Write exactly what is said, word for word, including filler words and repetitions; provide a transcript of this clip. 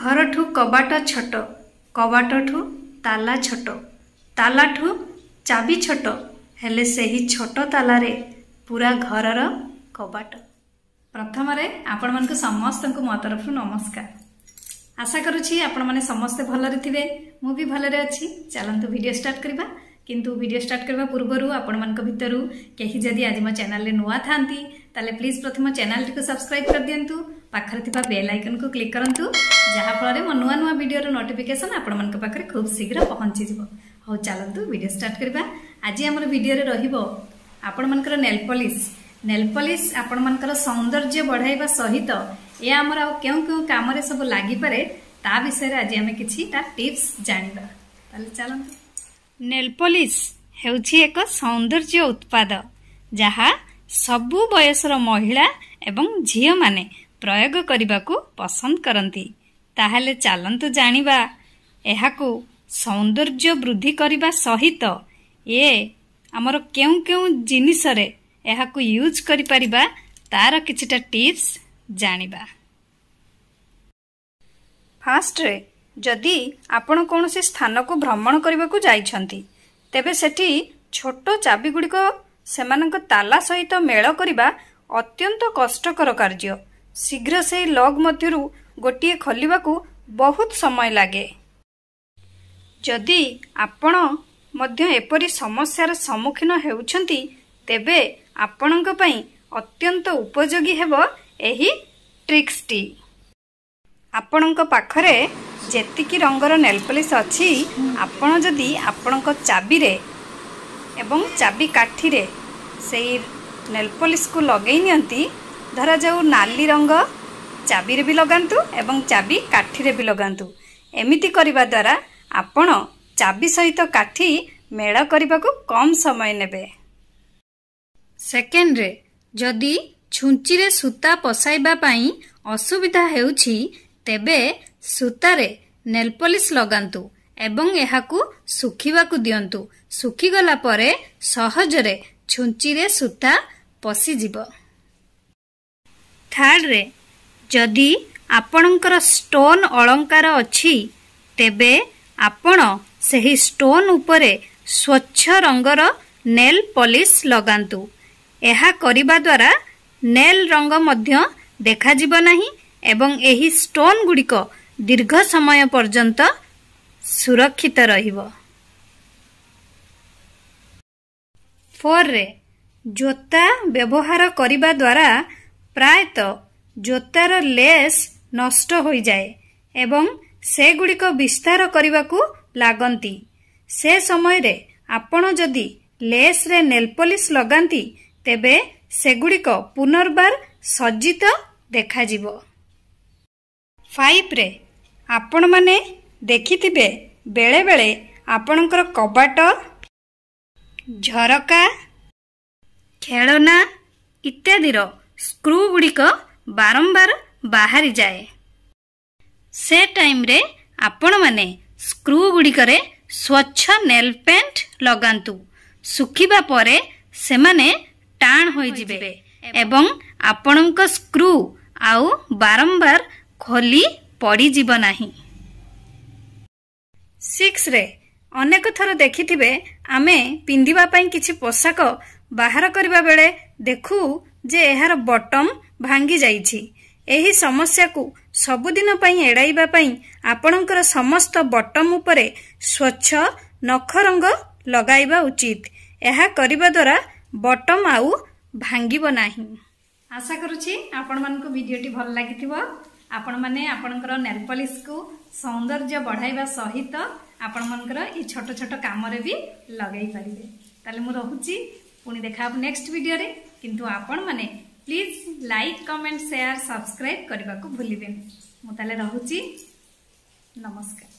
ଘରଠୁ କବାଟ ଛୋଟ, କବାଟଠୁ ତାଲା ଛୋଟ, ତାଲାଠୁ ଚାବି ଛୋଟ, ହେଲେ ସେହି ଛୋଟ ତାଲାରେ ପୁରା ଘରର କବାଟ। ପ୍ରଥମରେ ଆପଣମାନଙ୍କୁ ସମସ୍ତଙ୍କୁ ମୋ ତରଫରୁ ନମସ୍କାର। ଆଶା କରୁଛି ଆପଣମାନେ ସମସ୍ତେ ଭଲରେ ଥିବେ, ମୁଁ ବି ଭଲରେ ଅଛି। ଚାଲନ୍ତୁ ଭିଡ଼ିଓ ଷ୍ଟାର୍ଟ କରିବା। କିନ୍ତୁ ଭିଡ଼ିଓ ଷ୍ଟାର୍ଟ କରିବା ପୂର୍ବରୁ ଆପଣମାନଙ୍କ ଭିତରୁ କେହି ଯଦି ଆଜି ମୋ ଚ୍ୟାନେଲରେ ନୂଆ ଥାନ୍ତି, ତାହେଲେ ପ୍ଲିଜ୍ ପ୍ରଥମ ଚ୍ୟାନେଲଟିକୁ ସବସ୍କ୍ରାଇବ୍ କରିଦିଅନ୍ତୁ, ପାଖରେ ଥିବା ବେଲ୍ ଆଇକନ୍କୁ କ୍ଲିକ୍ କରନ୍ତୁ, ଯାହାଫଳରେ ମୋ ନୂଆ ନୂଆ ଭିଡ଼ିଓର ନୋଟିଫିକେସନ୍ ଆପଣମାନଙ୍କ ପାଖରେ ଖୁବ୍ ଶୀଘ୍ର ପହଞ୍ଚିଯିବ। ହଉ, ଚାଲନ୍ତୁ ଭିଡ଼ିଓ ଷ୍ଟାର୍ଟ କରିବା। ଆଜି ଆମର ଭିଡ଼ିଓରେ ରହିବ ଆପଣମାନଙ୍କର ନେଲ୍ ପଲିସ୍। ନେଲ୍ ପଲିସ୍ ଆପଣମାନଙ୍କର ସୌନ୍ଦର୍ଯ୍ୟ ବଢ଼ାଇବା ସହିତ ଏହା ଆମର ଆଉ କେଉଁ କେଉଁ କାମରେ ସବୁ ଲାଗିପାରେ, ତା ବିଷୟରେ ଆଜି ଆମେ କିଛିଟା ଟିପ୍ସ ଜାଣିବା। ତାହେଲେ ଚାଲନ୍ତୁ। ନେଲ୍ ପଲିସ୍ ହେଉଛି ଏକ ସୌନ୍ଦର୍ଯ୍ୟ ଉତ୍ପାଦ, ଯାହା ସବୁ ବୟସର ମହିଳା ଏବଂ ଝିଅମାନେ ପ୍ରୟୋଗ କରିବାକୁ ପସନ୍ଦ କରନ୍ତି। ତାହେଲେ ଚାଲନ୍ତୁ ଜାଣିବା, ଏହାକୁ ସୌନ୍ଦର୍ଯ୍ୟ ବୃଦ୍ଧି କରିବା ସହିତ ଏ ଆମର କେଉଁ କେଉଁ ଜିନିଷରେ ଏହାକୁ ୟୁଜ୍ କରିପାରିବା, ତାର କିଛିଟା ଟିପ୍ସ ଜାଣିବା। ଫାଷ୍ଟରେ, ଯଦି ଆପଣ କୌଣସି ସ୍ଥାନକୁ ଭ୍ରମଣ କରିବାକୁ ଯାଇଛନ୍ତି, ତେବେ ସେଠି ଛୋଟ ଚାବିଗୁଡ଼ିକ ସେମାନଙ୍କ ତାଲା ସହିତ ମେଳ କରିବା ଅତ୍ୟନ୍ତ କଷ୍ଟକର କାର୍ଯ୍ୟ। ଶୀଘ୍ର ସେହି ଲକ୍ ମଧ୍ୟରୁ ଗୋଟିଏ ଖୋଲିବାକୁ ବହୁତ ସମୟ ଲାଗେ। ଯଦି ଆପଣ ମଧ୍ୟ ଏପରି ସମସ୍ୟାର ସମ୍ମୁଖୀନ ହେଉଛନ୍ତି, ତେବେ ଆପଣଙ୍କ ପାଇଁ ଅତ୍ୟନ୍ତ ଉପଯୋଗୀ ହେବ ଏହି ଟ୍ରିକ୍ସଟି। ଆପଣଙ୍କ ପାଖରେ ଯେତିକି ରଙ୍ଗର ନେଲ୍ ପଲିସ୍ ଅଛି, ଆପଣ ଯଦି ଆପଣଙ୍କ ଚାବିରେ ଏବଂ ଚାବି କାଠିରେ ସେଇ ନେଲ୍ ପଲିସ୍କୁ ଲଗେଇ ନିଅନ୍ତି, ଧରାଯାଉ ନାଲି ରଙ୍ଗ ଚାବିରେ ବି ଲଗାନ୍ତୁ ଏବଂ ଚାବି କାଠିରେ ବି ଲଗାନ୍ତୁ, ଏମିତି କରିବା ଦ୍ୱାରା ଆପଣ ଚାବି ସହିତ କାଠି ମେଳ କରିବାକୁ କମ୍ ସମୟ ନେବେ। ସେକେଣ୍ଡରେ, ଯଦି ଛୁଞ୍ଚିରେ ସୂତା ପଶାଇବା ପାଇଁ ଅସୁବିଧା ହେଉଛି, ତେବେ ସୂତାରେ ନେଲ୍ ପଲିସ୍ ଲଗାନ୍ତୁ ଏବଂ ଏହାକୁ ଶୁଖିବାକୁ ଦିଅନ୍ତୁ। ଶୁଖିଗଲା ପରେ ସହଜରେ ଛୁଞ୍ଚିରେ ସୂତା ପଶିଯିବ। ଥାର୍ଡରେ, ଯଦି ଆପଣଙ୍କର ଷ୍ଟୋନ୍ ଅଳଙ୍କାର ଅଛି, ତେବେ ଆପଣ ସେହି ଷ୍ଟୋନ୍ ଉପରେ ସ୍ୱଚ୍ଛ ରଙ୍ଗର ନେଲ୍ ପଲିସ୍ ଲଗାନ୍ତୁ। ଏହା କରିବା ଦ୍ୱାରା ନେଲ୍ ରଙ୍ଗ ମଧ୍ୟ ଦେଖାଯିବ ନାହିଁ ଏବଂ ଏହି ଷ୍ଟୋନ୍ ଗୁଡ଼ିକ ଦୀର୍ଘ ସମୟ ପର୍ଯ୍ୟନ୍ତ ସୁରକ୍ଷିତ ରହିବ। ଫୋର୍ରେ, ଜୋତା ବ୍ୟବହାର କରିବା ଦ୍ୱାରା ପ୍ରାୟତଃ ଜୋତାର ଲେସ୍ ନଷ୍ଟ ହୋଇଯାଏ ଏବଂ ସେଗୁଡ଼ିକ ବିସ୍ତାର କରିବାକୁ ଲାଗନ୍ତି। ସେ ସମୟରେ ଆପଣ ଯଦି ଲେସ୍ରେ ନେଲ୍ ପଲିସ୍ ଲଗାନ୍ତି, ତେବେ ସେଗୁଡ଼ିକ ପୁନର୍ବାର ସଜ୍ଜିତ ଦେଖାଯିବ। ଫାଇଭରେ, ଆପଣମାନେ ଦେଖିଥିବେ ବେଳେବେଳେ ଆପଣଙ୍କର କବାଟ, ଝରକା, ଖେଳନା ଇତ୍ୟାଦିର ସ୍କ୍ରୁ ଗୁଡ଼ିକ ବାରମ୍ବାର ବାହାରିଯାଏ। ସେ ଟାଇମ୍ରେ ଆପଣମାନେ ସ୍କ୍ରୁ ଗୁଡ଼ିକରେ ସ୍ୱଚ୍ଛ ନେଲ୍ ପେଣ୍ଟ ଲଗାନ୍ତୁ। ଶୁଖିବା ପରେ ସେମାନେ ଟାଣ ହୋଇଯିବେ ଏବଂ ଆପଣଙ୍କ ସ୍କ୍ରୁ ଆଉ ବାରମ୍ବାର ଖୋଲି ପଡ଼ିଯିବ ନାହିଁ। ସିକ୍ସରେ, ଅନେକ ଥର ଦେଖିଥିବେ ଆମେ ପିନ୍ଧିବା ପାଇଁ କିଛି ପୋଷାକ ବାହାର କରିବା ବେଳେ ଦେଖୁ ଯେ ଏହାର ବଟମ୍ ଭାଙ୍ଗି ଯାଇଛି। ଏହି ସମସ୍ୟାକୁ ସବୁଦିନ ପାଇଁ ଏଡ଼ାଇବା ପାଇଁ ଆପଣଙ୍କର ସମସ୍ତ ବଟମ୍ ଉପରେ ସ୍ୱଚ୍ଛ ନଖ ରଙ୍ଗ ଲଗାଇବା ଉଚିତ। ଏହା କରିବା ଦ୍ୱାରା ବଟମ୍ ଆଉ ଭାଙ୍ଗିବ ନାହିଁ। ଆଶା କରୁଛି ଆପଣମାନଙ୍କୁ ଭିଡ଼ିଓଟି ଭଲ ଲାଗିଥିବ। ଆପଣମାନେ ଆପଣଙ୍କର ନେଲ୍ ପଲିସ୍କୁ ସୌନ୍ଦର୍ଯ୍ୟ ବଢ଼ାଇବା ସହିତ ଆପଣମାନଙ୍କର ଏଇ ଛୋଟ ଛୋଟ କାମରେ ବି ଲଗାଇ ପାରିବେ। ତାହେଲେ ମୁଁ ରହୁଛି, ପୁଣି ଦେଖା ହେବ ନେକ୍ସଟ ଭିଡ଼ିଓରେ। କିନ୍ତୁ ଆପଣମାନେ please like, comment, share, subscribe କରିବାକୁ ଭୁଲିବେନି। ମୁଁ ତାହେଲେ ରହୁଛି, ନମସ୍କାର।